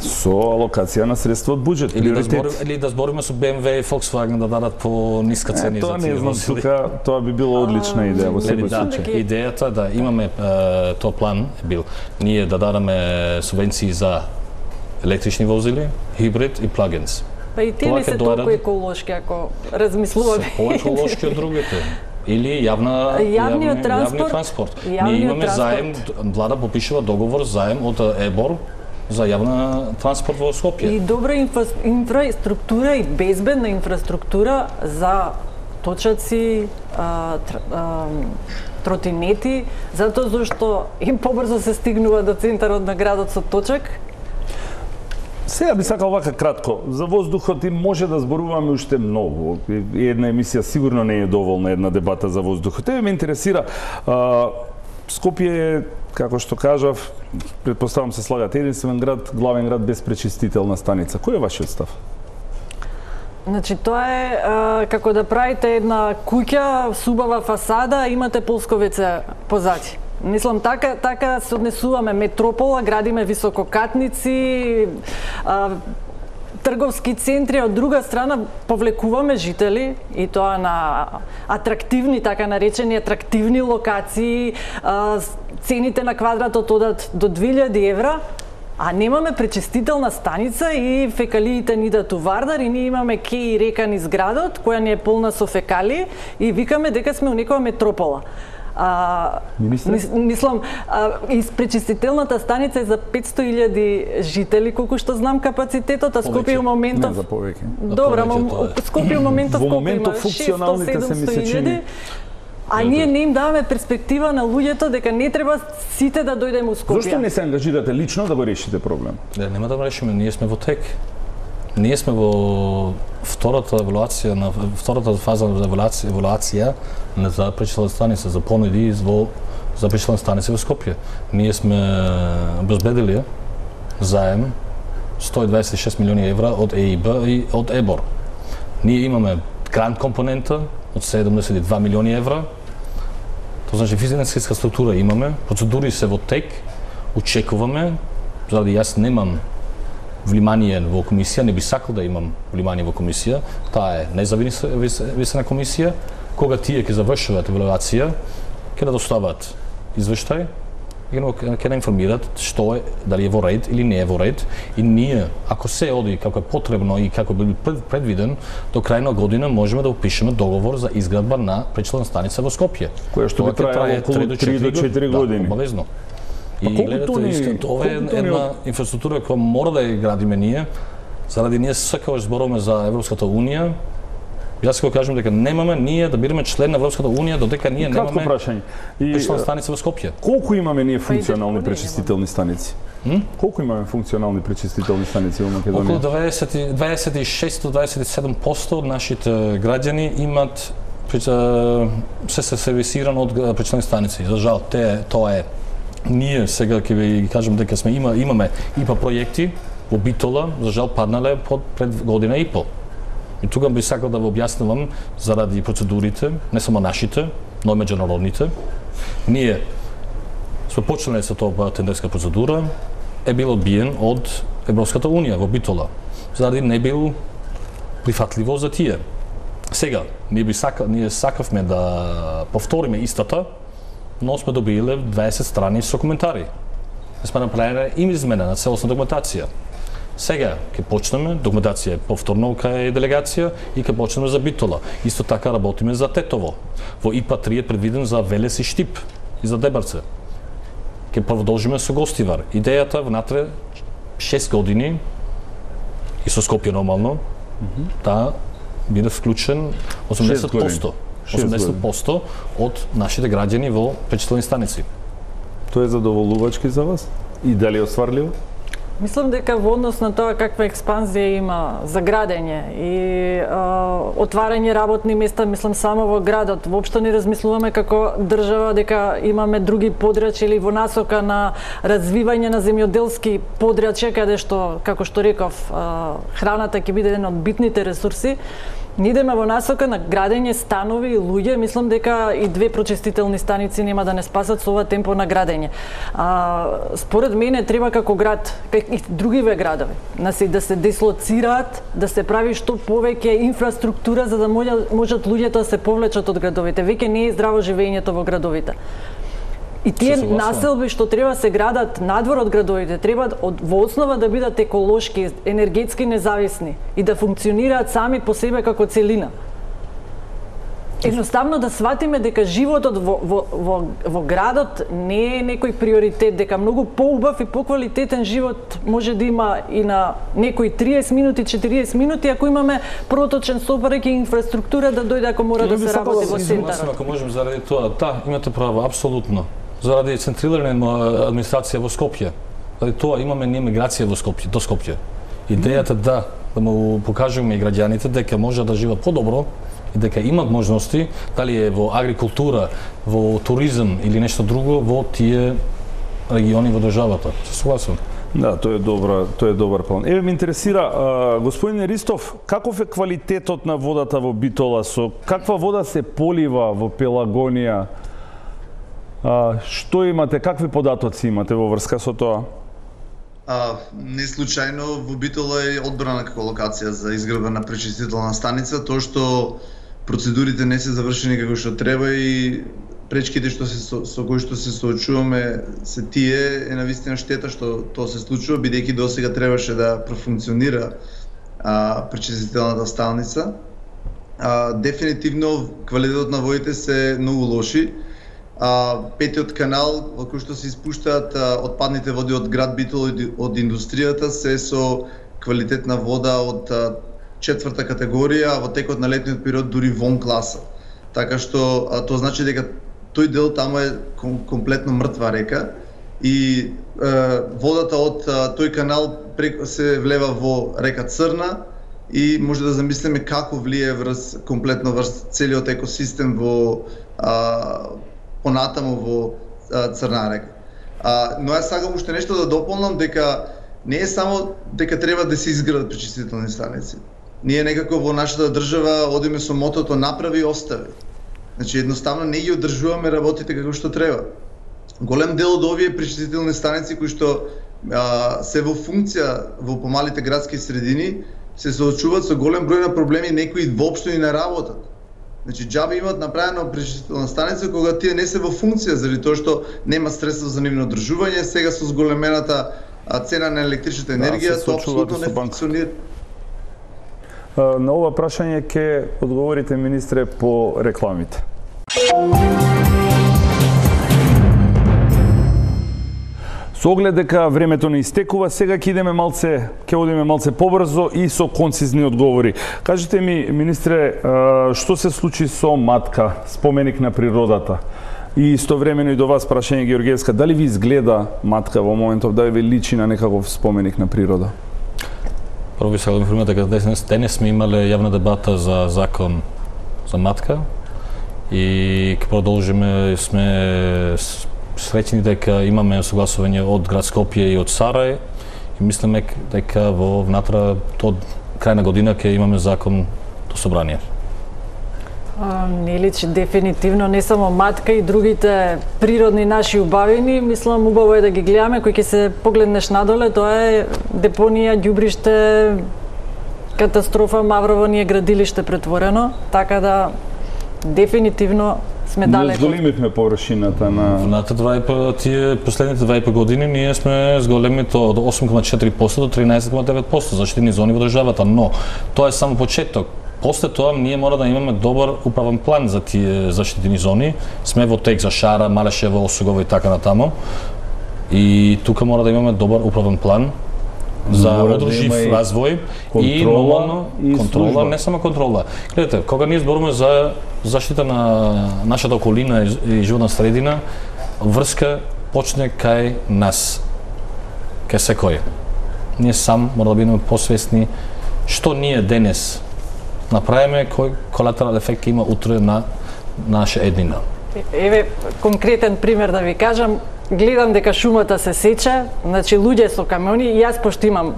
Со алокација на средства од буџет, Или да збориме приоритет. или да збориме со Б М В и Volkswagen да дадат по ниска Е, цени за тоа тие не знам, возили. тука тоа би било одлична идеја во Лели, секој да, случај. Дека- идејата да имаме е, тоа план е бил ние да дадеме субвенции за електрични возили, хибрид и плагинс. Па и тие Тоа не ќе се доаде- толку еколошки ако размислуваме. Се поеколошки од другите. Или јавна Јавниот јавни- транспорт- јавни транспорт. јавниот Ние имаме транспорт. заем, влада попишува договор заем од ЕБОР за јавна транспорт во Скопје. И добра инфра, инфраструктура и безбедна инфраструктура за точаци, а, тр, а, тротинети, затоа зашто им побрзо се стигнува до центарот на градот со точак. Сега би сакал вака кратко. За воздухот и може да зборуваме уште многу. И една емисија сигурно не е доволна, една дебата за воздухот. Еве ме интересира, а, Скопје е, како што кажав, предпоставам се слагате, единствен град, главен град без пречистителна станица. Кој е вашиот став? Значи тоа е а, како да правите една куќа, субава фасада, имате полсковице позади. Мислам, така, така се однесуваме метропола, градиме висококатници, а, трговски центри, од друга страна повлекуваме жители и тоа на атрактивни, така наречени атрактивни локации, а, цените на квадратот одат до две илјади евра, а немаме пречистителна станица и фекалиите ни да тувардар и ние имаме ке и река низ градот која ни е полна со фекалии и викаме дека сме у некоја метропола. А, Министре? мис, мислам, а, из пречистителната станица е за петсто илјади жители, колку што знам капацитетот, а Скопје у Не моментов... за повеќе. Добро, повеќе мо- тоа е. Скопје у моментов Во колку моментов има? функционалните се ми се чини. илјади. А ние не им даваме перспектива на луѓето дека не треба сите да дојдеме у Скопје. Зошто не се ангажирате лично да го решите проблем? Не, нема да го решиме, ние сме во тек. Ние сме во втората еволуација на втората фаза на еволуација, еволуација на за пречислена станица за понуди во за пречислена станица во Скопје. Ние сме обезбедили заем сто и дваесет и шест милиони евра од Е И Б и од ЕБОР. Ние имаме грант компонента од седумдесет и два милиони евра. Тоа значи финансиска структура имаме, процедури се во тек, очекуваме, заради јас немам влимание во комисија, не би сакал да имам влимание во комисија, таа е независена комисија, кога тие ќе завршуваат евалуација, ќе да достават извештај ќе не информираат што е, дали е во ред или не е во ред, и ние, ако се оди како е потребно и како би предвиден, до крај на година можеме да упишеме договор за изградба на пречислената станица во Скопје. Која што би траело околу три до четири години. Да, обавезно. Па и гледате, искрено, ова е една инфраструктура која мора да ја градиме ние, заради ние секогаш зборуваме за Европската унија. Јас ќе кажам дека немаме ние да бидеме член на Европската унија додека ние Кратко немаме прашање. пречиствена станица во Скопје. Колку имаме ние функционални пречистителни станици? М? Колку имаме функционални пречистителни станици во Македонија? Околу дваесет и шест до дваесет и седум проценти од нашите граѓани имат се се сервисирано од пречистителни станици. За жал, те тоа е. Ние сега ќе ви кажам дека сме има имаме ИПА проекти во Битола, за жал паднале под пред година и пол. И тука би сакал да ви објаснувам заради процедурите, не само нашите, но и меѓународните. Ние сме почнале со тоа тендерска процедура, е бил одбиен од Европската унија во Битола, заради не бил прифатливо за тие. Сега, ние би сакал, ние сакавме да повториме истата, но сме добиле дваесет страни со коментари. Сме направиле им измена на целосна документација. Сега ќе почнеме, документација е повторно кај делегација и ќе почнеме за Битола. Исто така работиме за Тетово. Во ИПА три е предвиден за Велес и Штип и за Дебарце. Ќе продолжиме со Гостивар. Идејата внатре шест години и со Скопје нормално, mm-hmm. да биде вклучен осемдесет проценти. осемдесет проценти од нашите граѓани во пречистителни станици. Тоа е задоволувачки за вас? И дали е остварливо? Мислам дека во однос на тоа каква експанзија има за градење и а, отварање работни места, мислам само во градот. Воопшто не размислуваме како држава дека имаме други подрачја или во насока на развивање на земјоделски подрачја, каде што, како што реков, а, храната ќе биде еден од битните ресурси. Ние идеме во насока на градење станови и луѓе, мислам дека и две прочистителни станици нема да не спасат со ова темпо на градење. А, според мене треба како град, како и другиве градови, да се, да се дислоцираат, да се прави што повеќе инфраструктура за да можат, можат луѓето да се повлечат од градовите. Веќе не е здраво живењето во градовите. И тие населби што треба се градат надвор од градовите, треба од, во основа да бидат еколошки, енергетски независни и да функционираат сами по себе како целина. Едноставно да сватиме дека животот во, во, во, во градот не е некој приоритет, дека многу поубав и поквалитетен живот може да има и на некои триесет минути, четириесет минути, ако имаме проточен сообраќај и инфраструктура да дојде ако мора да се работи во центарот. Ако можем заради тоа, да, имате право, апсолутно. Заради централна администрација во Скопје. Заради тоа имаме ние миграција во Скопје, до Скопје. Идејата да, да му покажеме и граѓаните дека може да живеат подобро и дека имат можности, дали е во агрикултура, во туризам или нешто друго, во тие региони во државата. Се согласувам. Да, тоа е добра, тоа е добар план. Еве ме интересира, а, господин Ристов, каков е квалитетот на водата во Битола, со каква вода се полива во Пелагонија? А, што имате, какви податоци имате во врска со тоа? А, не случајно во Битола е одбрана како локација за изградба на пречистителна станица, тоа што процедурите не се завршени како што треба и пречките што се со, со кои што се соочуваме се тие, е навистина штета што тоа се случува, бидејќи досега требаше да профункционира а, пречистителната станица. А, дефинитивно квалитетот на водите се многу лоши. А, петиот канал во кој што се испуштаат а, отпадните води од град Битола од индустријата се со квалитетна вода од а, четврта категорија, а во текот на летниот период дури вон класа. Така што а, тоа значи дека тој дел таму е ком, комплетно мртва река и а, водата од а, тој канал преко се влева во река Црна и може да замислиме како влие врз комплетно врз целиот екосистем во а, понатаму во а, Црна река. А, но јас сакам уште нешто да дополнам, дека не е само дека треба да се изградат пречистителни станици. Ние некако во нашата држава одиме со мотото направи и остави. Значи едноставно не ги одржуваме работите како што треба. Голем дел од овие пречистителни станици кои што а, се во функција во помалите градски средини се соочуваат со голем број на проблеми, некои воопшто и не работат. Значи џабе имаат направено пречистителна станица кога тие не се во функција заради тоа што нема средства за нивно одржување, сега со зголемената цена на електричната енергија, да, тоа апсолутно не функционира. На ова прашање ќе одговорите, министре, по рекламите. Со оглед дека времето не истекува, сега ќе идеме малце, ќе одиме малце побрзо и со концизни одговори. Кажете ми, министре, што се случи со Матка, споменик на природата? И истовремено и до вас прашање, Георгиевска, дали ви изгледа Матка во моментов, дали ви личи на некаков споменик на природа? Прво би сакал да информирам дека денес, денес сме имале јавна дебата за закон за Матка и ќе продолжиме, сме среќни дека имаме согласување од град Скопје и од Сарај и мислиме дека во внатра од крај на година ќе имаме закон до собрание. А, не личи дефинитивно, не само Матка и другите природни наши убавини, мислам убаво е да ги гледаме, кој ќе се погледнеш надоле, тоа е депонија, ѓубриште, катастрофа, Маврово ни е градилиште претворено, така да дефинитивно сме далеко. Не зголемивме површината на... Внатре два и по тие последните два и по години ние сме зголемили тоа од осум кoma четири проценти до тринаесет кoma девет проценти заштитени зони во државата, но тоа е само почеток. После тоа ние мора да имаме добар управен план за тие заштитени зони. Сме во тек за Шара, Малешево, Осугово и така натаму. И тука мора да имаме добар управен план за одржив да развој и нормално контрола, служба. Не само контрола. Гледате, кога ние зборуваме за заштита на нашата околина и животна средина, врска почне кај нас, кај секој. Ние сам мора да бидеме посвесни што ние денес направиме, кој колатерален ефект има утре на наша еднина. Еве конкретен пример да ви кажам, гледам дека шумата се сече, значи луѓе со камиони и јас пошто имам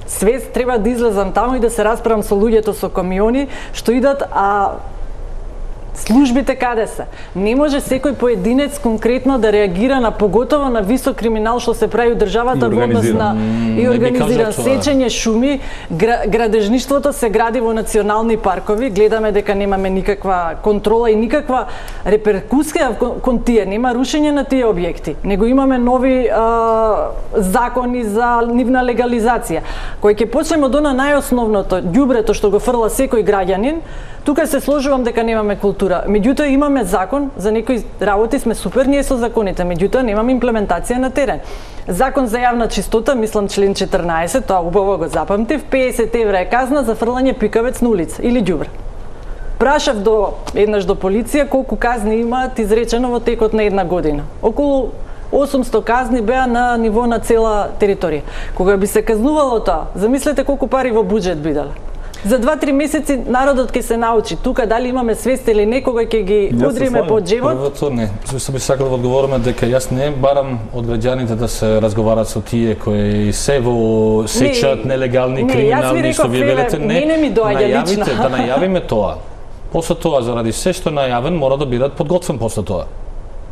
свест, треба да излезам таму и да се расправам со луѓето со камиони што идат, а службите каде се? Не може секој поединец конкретно да реагира на поготово на висок криминал што се прави у државата во однос на и организиран сечење шуми, градежништвото се гради во национални паркови, гледаме дека немаме никаква контрола и никаква реперкусија кон тие, нема рушење на тие објекти, него имаме нови а, закони за нивна легализација. Кој ќе почнеме од она најосновното, ѓубрето што го фрла секој граѓанин, тука се сложувам дека немаме култура. Меѓутоа имаме закон, за некои работи сме супер ние со законите, меѓутоа немаме имплементација на терен. Закон за јавна чистота, мислам член четрнаесет, тоа убаво го запамтив, песет евра е казна за фрлање пикавец на улица или ѓубре. Прашав до еднаш до полиција колку казни имаат изречено во текот на една година. Околу осумсто казни беа на ниво на цела територија. Кога би се казнувало тоа, замислете колку пари во буџет биделе. За два-три месеци народот ќе се научи тука дали имаме свест или не, кога ќе ги удриме по џебот. Првото не, се би сакал да одговориме дека јас не барам од граѓаните да се разговарат со тие кои се во сечат не, нелегални криминални што вие велите, не, не, не ми доаѓа лично. Да најавиме тоа. После тоа заради се што најавен мора да бидат подготвен после тоа.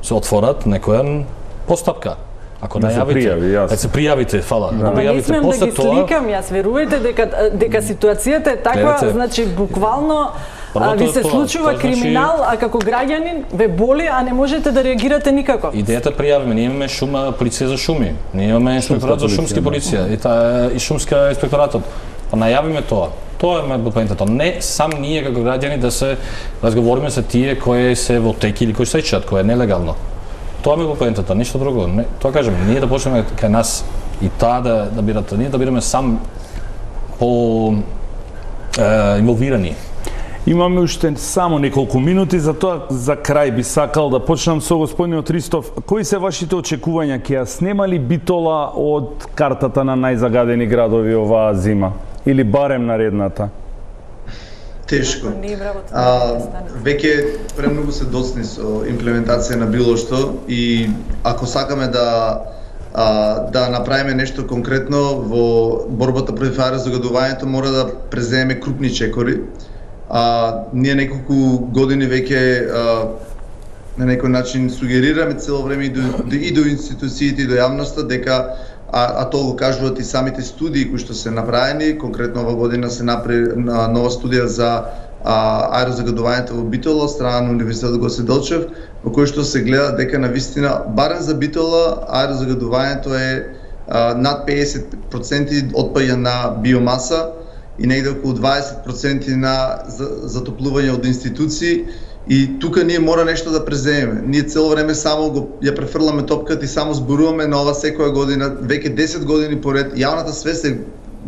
Се отворат некоја постапка. Ако да најавите, да се пријавите, фала. Да. Да не смеам да ги сликам, јас верувајте дека дека ситуацијата е таква, Гледате, значи буквално а, ви се тоа, случува тоа, криминал, значи... а како граѓанин ве боли, а не можете да реагирате никако. Идејата пријавиме, ние имаме шума полиција за шуми, ние имаме инспекторат за шумски полиција и таа и шумска инспекторатот. Па најавиме тоа. Тоа е поентата. Не сам ние како граѓани да се разговориме со тие кои се во теки или кои сечат, кои е нелегално. Тоа ми го поентата, ништо друго. Не, тоа кажем, ние да почнеме кај нас и таа да да бидат, ние да бидеме сам по е, инволвирани. Имаме уште само неколку минути, затоа за крај би сакал да почнам со господинот Ристов. Кои се вашите очекувања, ќе ја снема ли Битола од картата на најзагадени градови оваа зима или барем наредната? Тешко. А, веќе премногу се доцни со имплементација на било што и ако сакаме да а, да направиме нешто конкретно во борбата против аерозагадувањето, мора да преземеме крупни чекори. А, ние неколку години веќе а, на некој начин сугерираме цело време и до, и до институциите и до јавноста дека А, а тоа го кажуваат и самите студии кои што се направени, конкретно ова година се направи нова студија за аерозагадувањето во Битола од страна на Универзитетот Гоце Делчев, во кој што се гледа дека на вистина барем за Битола аерозагадувањето е а, над педесет проценти отпаѓа на биомаса и негде околу дваесет проценти на затоплување од институции. И тука ние мора нешто да преземеме. Ние цело време само го ја префрламе топката и само зборуваме на ова секоја година, веќе десет години поред. Јавната свест е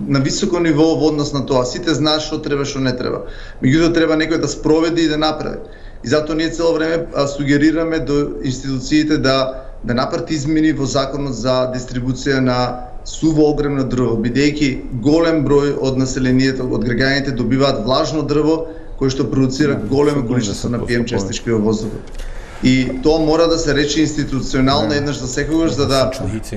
на високо ниво во однос на тоа. Сите знаат што треба, што не треба. Меѓутоа треба некој да спроведе и да направи. И затоа ние цело време сугерираме до институциите да да направат измени во законот за дистрибуција на суво огремно дрво, бидејќи голем број од населението, од граѓаните добиваат влажно дрво кој што продуцира големо количество на пи ем честички во воздухот. И тоа мора да се рече институционално еднаш за секогаш, за да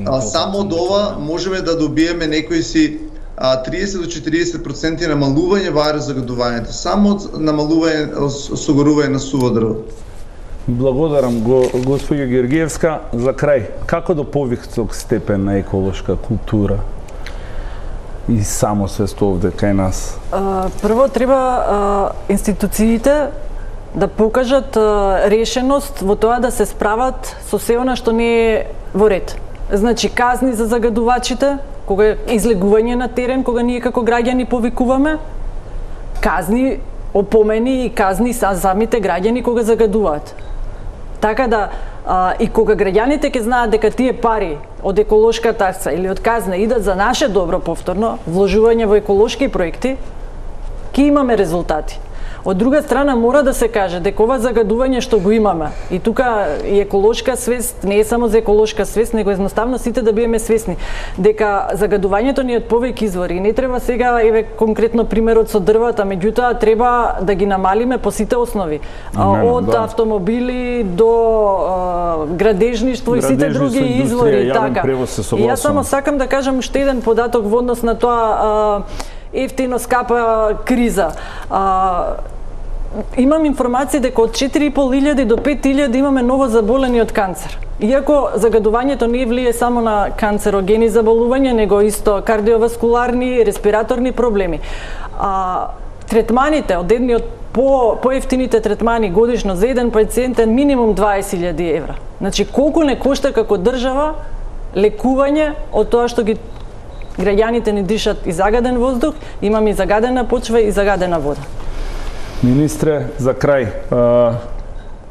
а, само од ова можеме да добиеме некои си а, триесет до четириесет проценти намалување во аерозагадувањето, само од намалување согорување на суво дрво. Благодарам го господја Георгиевска. За крај, како до повисок степен на еколошка култура и самосвест овде кај нас? А, прво треба а, институциите да покажат а, решеност во тоа да се справат со се она што не е во ред. Значи казни за загадувачите, кога излегување на терен, кога ние како граѓани повикуваме, казни, опомени и казни за самите граѓани кога загадуваат. Така да а, и кога граѓаните ќе знаат дека тие пари од еколошка такса или од казна идат за наше добро повторно, вложување во еколошки проекти, ќе имаме резултати. Од друга страна мора да се каже дека ова загадување што го имаме и тука и еколошка свест не е само за еколошка свест, него едноставно сите да бидеме свесни дека загадувањето ни е од повеќе извори. Не треба сега еве конкретно примерот со дрвата, меѓутоа треба да ги намалиме по сите основи. Именно, од да. автомобили до а, градежништво и сите други извори и така. И јас само сакам да кажам уште еден податок во однос на тоа а, ефтино скапа криза. А, имам информации дека од четири и пол илјади до пет илјади имаме ново заболени од канцер. Иако загадувањето не влие само на канцерогени заболувања, него исто кардиоваскуларни, респираторни проблеми. А, третманите, од едни од по поевтините третмани годишно за еден пациент е минимум дваесет илјади евра. Значи колку не кошта како држава лекување од тоа што ги граѓаните ни дишат и загаден воздух, имаме и загадена почва и загадена вода. Министре, за крај, а,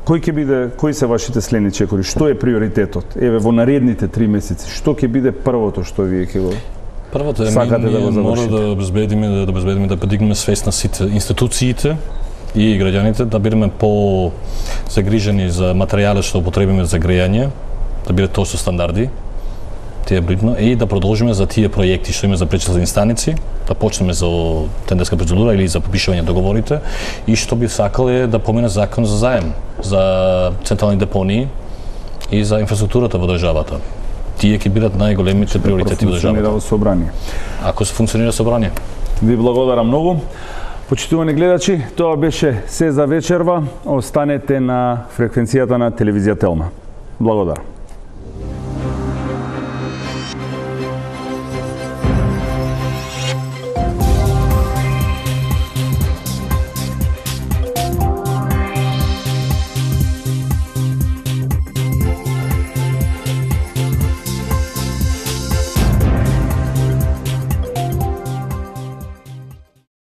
кој ќе биде, кои се вашите следни чекори? Што е приоритетот? Еве во наредните три месеци, што ќе биде првото што вие ќе го Првото е сакате ние да го мора да обезбедиме да обезбедиме да подигнеме свест на сите институциите и граѓаните, да бидеме по загрижени за материјалот што употребиме за грејање, да биде тоа со стандарди. Тие бритно и да продолжиме за тие проекти што има за пречиствени станици, да почнеме за тендерска процедура или за подпишување договорите и што би сакал е да помине закон за заем за централни депонии и за инфраструктурата во државата. Тие ќе бидат најголемите приоритети во државата. Собрание. Ако се функционира собрание. Ви благодарам многу. Почитувани гледачи, тоа беше се за вечерва. Останете на фреквенцијата на телевизија Телма. Благодарам.